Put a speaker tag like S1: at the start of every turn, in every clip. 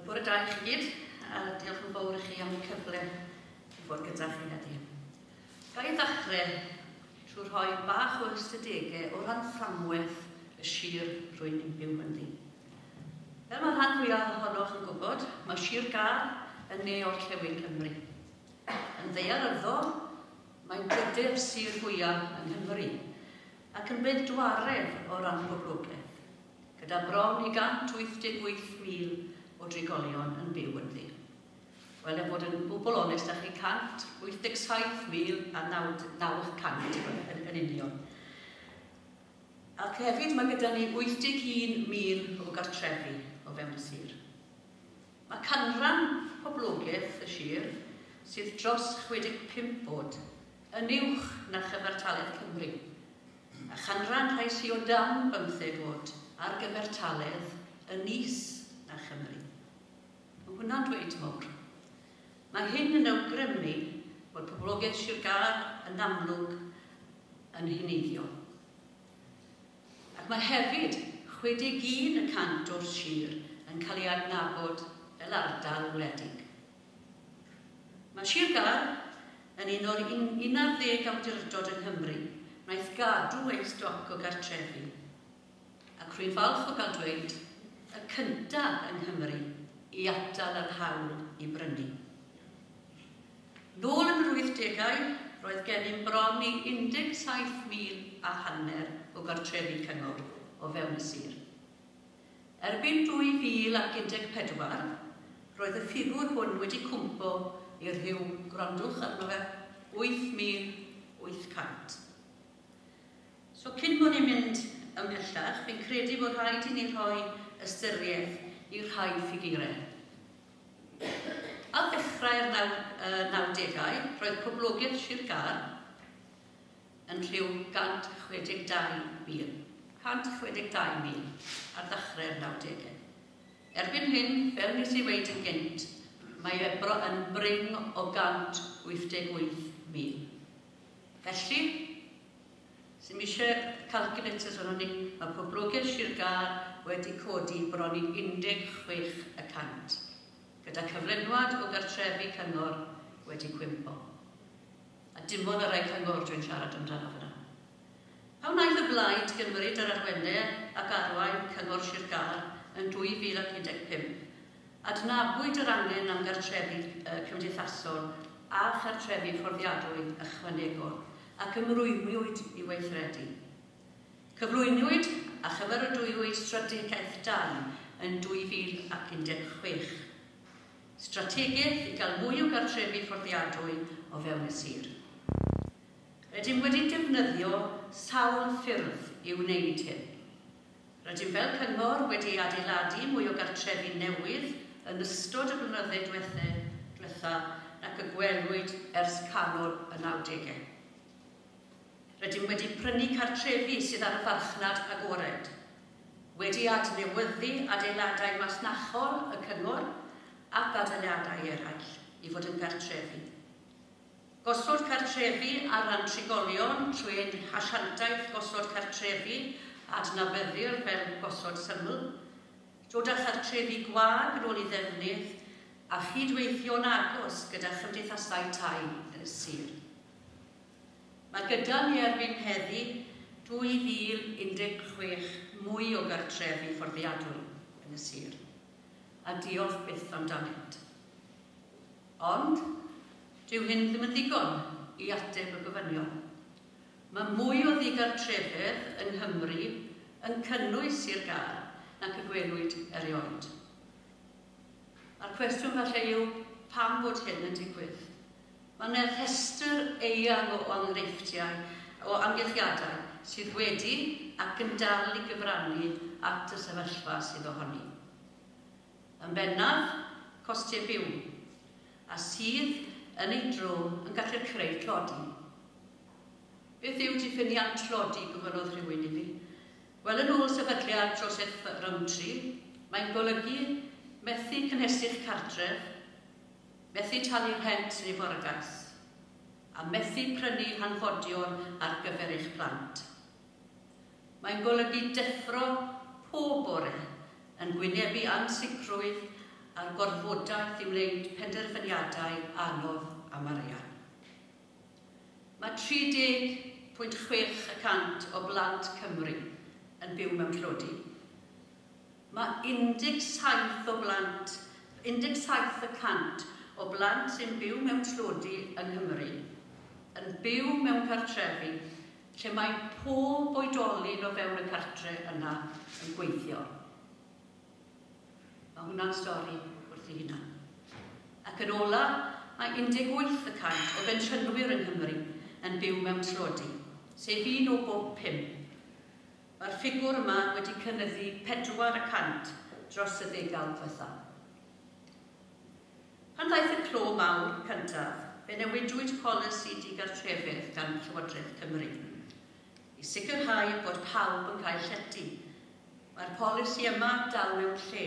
S1: Bore da i chi gyd, a diolch yn fawr i chi am y cyfle i fod gyda chi heddiw. Ga i ddechrau trwy rhoi bach o ystadegau o ran fframwaith y sir rwy'n byw ynddi. Fel mae rhan fwyaf ohonoch yn gwybod, mae Sir Gâr yn ne orllewin Cymru. Yn ddaearyddol, mae'n drydedd sir fwyaf yng Nghymru, ac yn bedwaredd o ran poblogaeth, gyda bron i 188,000 o drigolion yn byw ynddi. Wel, er bod yn gwbl onest â chi, 187,900 yn union. Ac hefyd mae gyda ni 81,000 o gartrefi o fewn y sir. Mae canran poblogaeth y sir sydd dros 65 oed yn uwch na chyfartaledd Cymru, a chanran rhai sydd o dan 15 oed ar gyfartaledd yn is na Chymru. Mae hwnna'n dweud mawr. Mae hyn yn awgrymu bod poblogaeth Sir Gâr yn amlwg yn heneiddio. Ac mae hefyd 61% o'r sir yn cael ei adnabod fel ardal wledig. Mae Sir Gâr yn un o'r 11 awdurdod yng Nghymru wnaeth gadw ei stoc o gartrefi, ac rwy'n falch o gael dweud y cyntaf yng Nghymru i atal yr hawl i brynu. Nôl yn yr 80au, roedd gennym bron i 17,500 o gartrefi cyngor o fewn y sir. Erbyn 2014, roedd y ffigwr hwn wedi cwmpo i rhyw, gwrandwch arno fe, 8,800. So cyn bod ni'n mynd ymhellach, fi'n credu bod rhaid i ni rhoi ystyriaeth i rhai ffigurau. Ar ddechrau'r 90au, roedd poblogaeth Sir Gâr yn rhyw 162,000. 162,000 ar ddechrau'r 90au. Erbyn hyn, fel nes i weud yn gynt, mae e yn brin o 188,000. Felly, sy'm eisiau calculators arnon ni, mae poblogaeth Sir Gâr wedi codi bron i 16%, gyda cyflenwad o gartrefi cyngor wedi cwympo. A dim ond y rhai cyngor dwi'n siarad amdano fyna. Pa wnaeth y Blaid gymryd yr arwennau ac arwain Cyngor Sir Gâr yn 2015, adnabwyd yr angen am gartrefi cymdeithasol a chartrefi fforddiadwy ychwanegol ac ymrwymwyd i weithredu. Cyflwynwyd a chymeradwywyd strategaeth dai yn 2016. Strategaeth i gael mwy o gartrefi fforddiadwy o fewn y sir. Rydym wedi defnyddio sawl ffyrdd i wneud hyn. Rydym fel cyngor wedi adeiladu mwy o gartrefi newydd yn ystod y blynyddoedd diwetha nac y gwelwyd ers canol y 90au. Rydym wedi prynu cartrefi sydd ar y farchnad agored, wedi adnewyddu adeiladau masnachol y cyngor ac adeiladau eraill i fod yn gartrefi. Gosod cartrefi ar ran trigolion trwy ein hasiantaeth gosod cartrefi adnabyddir fel gosod syml, dod â chartrefi gwag yn ôl i ddefnydd a chydweithio'n agos gyda chymdeithasau tai yn y sir. Mae gyda ni erbyn heddi 2016 mwy o gartrefi fforddiadwy yn y sir, a diolch byth amdanynt. Ond, dyw hyn ddim yn ddigon i ateb y gofynion. Mae mwy o ddigartrefedd yng Nghymru yn cynnwys Sir Gâr nac y gwelwyd erioed. A'r cwestiwn falle yw, pam bod hyn yn digwydd? Mae yna rhestr eang o enghreifftiau o amgylchiadau sydd wedi ac yn dal i gyfrannu at y sefyllfa sydd ohoni. Yn bennaf, costiau byw, a sydd yn ei dro yn gallu creu tlodi. Beth yw diffiniad tlodi, gofynnodd rhywun i fi? Wel, yn ôl sefydliad Joseph Rowntree, mae'n golygu methu cynhesu'ch cartref, methu talu rhent neu forgais, a methu prynu hanfodion ar gyfer eich plant. Mae'n golygu deffro pob bore yn gwynebu ansicrwydd a'r gorfodaeth i wneud penderfyniadau anodd am arian. Mae 30.6% o blant Cymru yn byw mewn tlodi. Mae 17 o blant, 17% o blant sy'n byw mewn tlodi yng Nghymru yn byw mewn cartrefi lle mae pob oedolyn o fewn y cartre yna yn gweithio. Mae hwnna'n stori wrth ei hunan. Ac yn ola, mae 18% o bensiynwyr yng Nghymru yn byw mewn tlodi, sef 1 o bob 5. Mae'r ffigwr yma wedi cynyddu 4% dros y ddegawd ddiwetha. Pan ddaeth y clo mawr cyntaf, fe newidwyd polisi digartrefedd gan Llywodraeth Cymru i sicrhau bod pawb yn cael llety. Mae'r polisi yma dal mewn lle,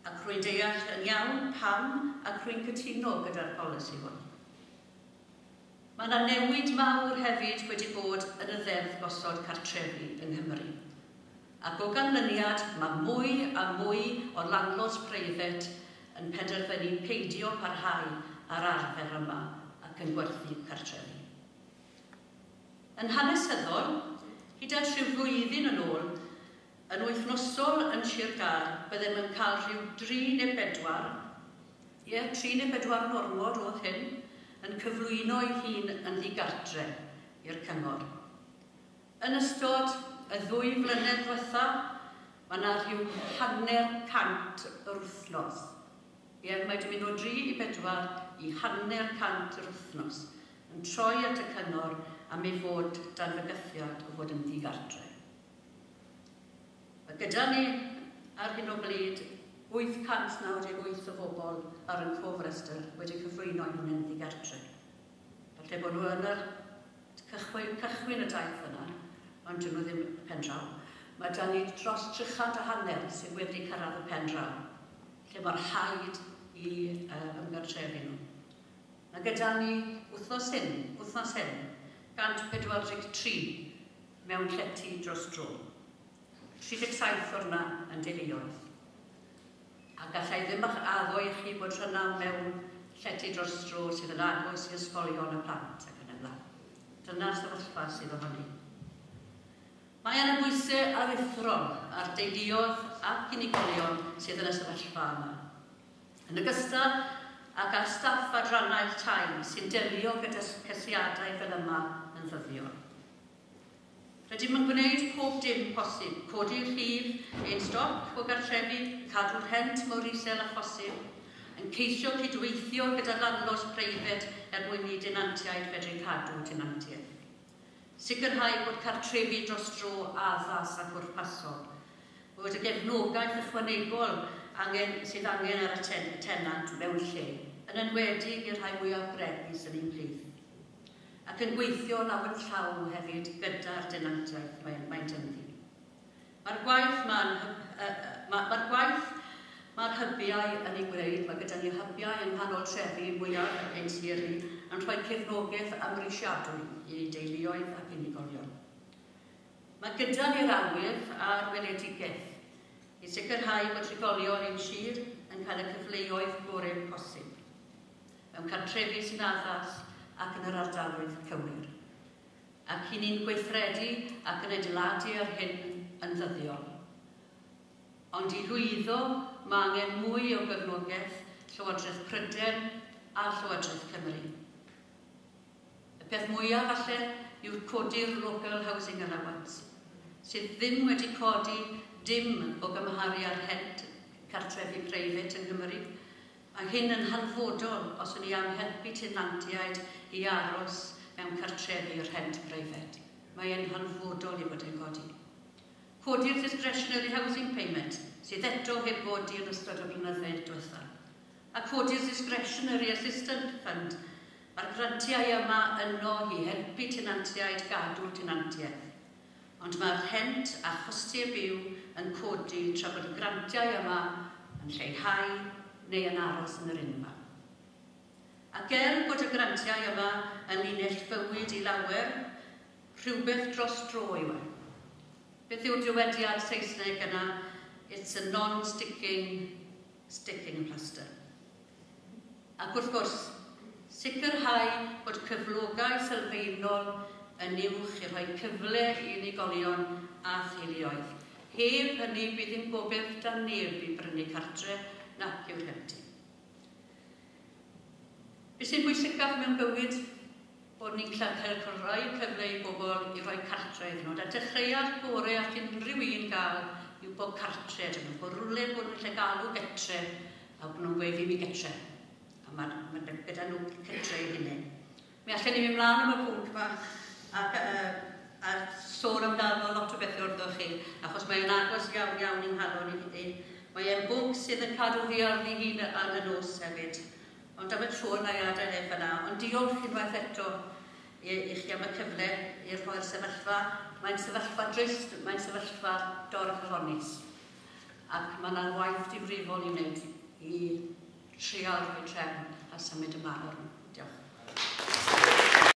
S1: ac rwy'n deall yn iawn pam ac rwy'n cytuno gyda'r polisi hwn. Mae yna newid mawr hefyd wedi bod yn y Ddeddf Gosod Cartrefi yng Nghymru. Ac o ganlyniad, mae mwy a mwy o landlords preifat yn penderfynu peidio parhau â'r arfer yma ac yn gwerthu cartrefi. Yn hanesyddol, hyd at rhyw flwyddyn yn ôl, yn wythnosol yn Sir Gâr, byddem yn cael rhyw 3 neu 4, ie, 3 neu 4 yn ormod oedd hyn, yn cyflwyno ei hun yn ddigartre i'r cyngor. Yn ystod y 2 flynedd diwetha, mae yna rhyw 50 yr wythnos. Ie, mae wedi mynd o 3 i 4 i 50 yr wythnos, yn troi at y cyngor am ei fod dan fygythiad o fod yn ddigartre. Mae gyda ni ar hyn o bryd 898 o bobl ar ein cofrestr wedi cyflwyno eu hunain ddigartre. Falle bod nhw yn yr cychwyn y daith yna, ond dyn nhw ddim y pen draw. Mae da ni dros 350 sydd wedi cyrraedd y pen draw, lle mae'r rhaid i ymgartrefu nhw. Mae gyda ni wythnos hyn, 143 mewn llety dros dro. 37 o'r yna yn deuluoedd. A gallai ddim addo i chi bod rhywna mewn llety dros dro sydd yn agos i ysgolion y plant ac yn y blaen. Dyna'r sefyllfa sydd ohoni. Mae yna bwysau aruthrol ar deuluoedd ac unigolion sydd yn y sefyllfa yma. Yn ogystal ag ar staff adrannau'r tai sy'n delio gyda ceisiadau fel yma yn ddyddiol. Rydym yn gwneud pob dim posib, codi'r rhif ein stoc o gartrefi, cadw'r rhent mor isel â phosib, yn ceisio cydweithio gyda landlords preifat er mwyn i denantiaid fedru cadw tenantiaeth. Sicrhau bod cartrefi dros dro addas a pwrpasol, bod y gefnogaeth ychwanegol sydd angen ar y tenant mewn lle, yn enwedig i'r rhai mwyaf bregus yn ein plith. Ac yn gweithio law yn llaw hefyd gyda'r denantiaeth maent ynddi. Mae'r gwaith mae'r hybiau yn ei gwneud, mae gyda ni hybiau yng nghanol trefi mwyaf ein sir ni, yn rhoi cefnogaeth amhrisiadwy i deuluoedd ac unigolion. Mae gyda ni'r awydd a'r weledigaeth i sicrhau bod trigolion ein sir yn cael y cyfleoedd gorau posib, mewn cartrefi sy'n addas ac yn yr ardaloedd cywir. Ac i ni'n gweithredu ac yn adeiladu ar hyn yn ddyddiol. Ond i lwyddo, mae angen mwy o gefnogaeth Llywodraeth Prydain a Llywodraeth Cymru. Y peth mwyaf falle yw'r codi'r Local Housing Allowance, sydd ddim wedi codi dim o gymharu â'r rhent cartrefi preifat yng Nghymru. Mae hyn yn hanfodol os ydyn ni am helpu tenantiaid i aros mewn cartrefi rhent preifat. Mae e'n hanfodol i fod yn codi. Codi'r discretionary housing payment, sydd eto heb godi yn ystod y blynyddoedd diwethaf. A codi'r discretionary assistance fund. Mae'r grantiau yma yno i helpu tenantiaid gadw tenantiaeth. Ond mae'r rhent a chostiau byw yn codi tra bod y grantiau yma yn lleihau neu yn aros yn yr unfan. Ac er bod y grantiau yma yn linell fywyd i lawer, rhywbeth dros dro yw e. Beth yw'r dywediad Saesneg yna? It's a non-sticking Sticking and plaster. Ac wrth gwrs, sicrhau bod cyflogau sylfaenol yn uwch i rhoi cyfle i unigolion a theuluoedd. Heb hynny bydd ddim gobaith 'da neb i brynu cartre nac i'w rhentu. Be sy'n bwysicaf mewn bywyd? Bod ni'n cael rhoi cyfle i bobl i roi cartre iddyn nhw. A dechreuad gore all unrhyw un gael yw bod cartre iddyn nhw. Bod rhywle bod nhw'n lle galw getre a bod nhw'n gweud, "Fi mi getre." A mae gyda nhw cytre i hunain. Mi allan ni mynd mlaen am y pwnc yma ac a sôn amdano lot o bethau wrthoch chi, achos mae'n agos iawn iawn i'n nghalon i. Mae e'n bwnc sydd yn cadw fi ar ddihun ar y nos hefyd. Ond am y tro na i adael e fyna. Ond diolch unwaith eto i chi am y cyfle i rhoi'r sefyllfa. Mae'n sefyllfa drist, mae'n sefyllfa dorcalonnus. Ac mae yna waith difrifol i wneud i trial rhoi trefn a symud ymlaen.